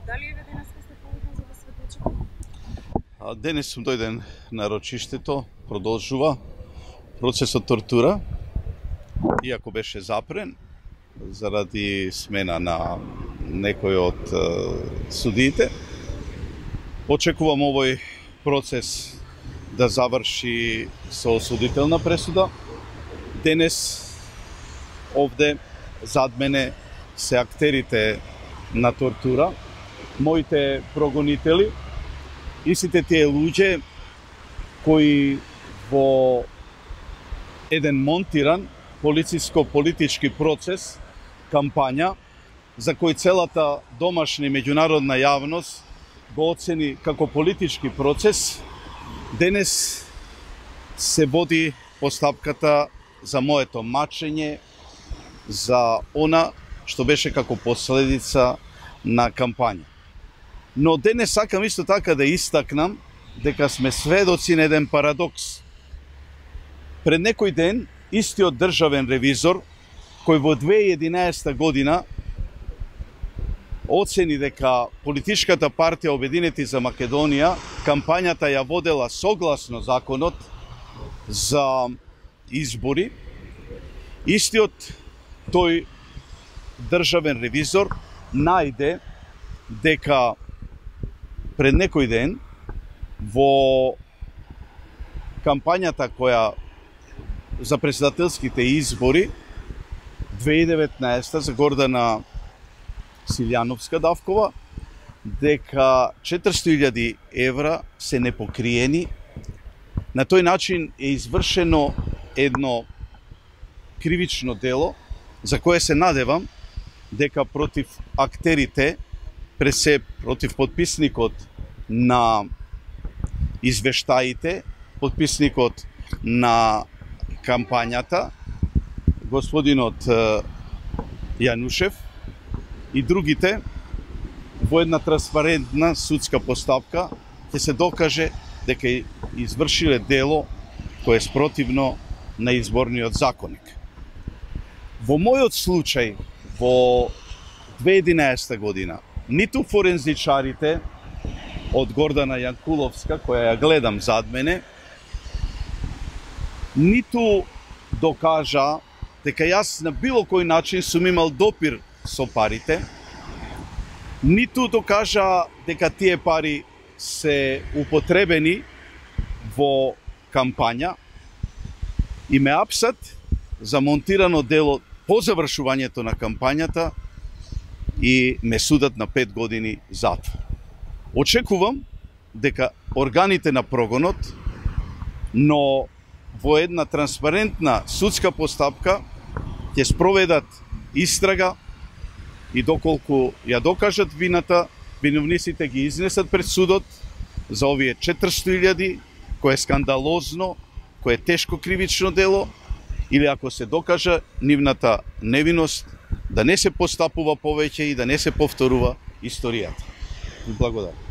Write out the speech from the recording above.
Дали еве денеска сте повикан за да сведочите? Денес сум дојден на рочиштето, продолжува процесот тортура, иако беше запрен заради смена на некој од судиите. Очекувам овој процес да заврши со осудителна пресуда. Денес овде зад мене се актерите на тортура, моите прогонители, и сите тие луѓе кои во еден монтиран полициско-политички процес, кампања, за кој целата домашна и меѓународна јавност го оцени како политички процес, денес се води постапката за моето мачење, за она што беше како последица на кампања. Но денес сакам исто така да истакнам дека сме сведоци на еден парадокс. Пред некој ден, истиот државен ревизор, кој во 2011 година оцени дека политичката партија Обединети за Македонија кампањата ја водела согласно законот за избори, истиот тој државен ревизор најде дека пред некој ден во кампањата која за председателските избори 2019 за Гордана Силјановска-Давкова, дека 400.000 евра се непокриени. На тој начин е извршено едно кривично дело за кое се надевам дека против актерите, пред се против подписникот на извештаите, подписникот на кампањата, господинот Јанушев и другите, во една транспарентна судска постапка ќе се докаже дека извршиле дело кое е спротивно на изборниот законник. Во мојот случај, во 2011 година, ниту форензичарите од Гордана Јанкуловска, која ја гледам зад мене, ниту докажа дека јас на било кој начин сум имал допир со парите, ниту докажа дека тие пари се употребени во кампања и ме апсат за монтирано дело по завршувањето на кампањата и ме судат на 5 години затвор. Очекувам дека органите на прогонот, но во една транспарентна судска постапка ќе спроведат истрага и доколку ја докажат вината, виновниците ги изнесат пред судот за овие 400.000, кое е скандалозно, кое е тешко кривично дело, или ако се докажа нивната невиност, да не се постапува повеќе и да не се повторува историјата. Благодарам.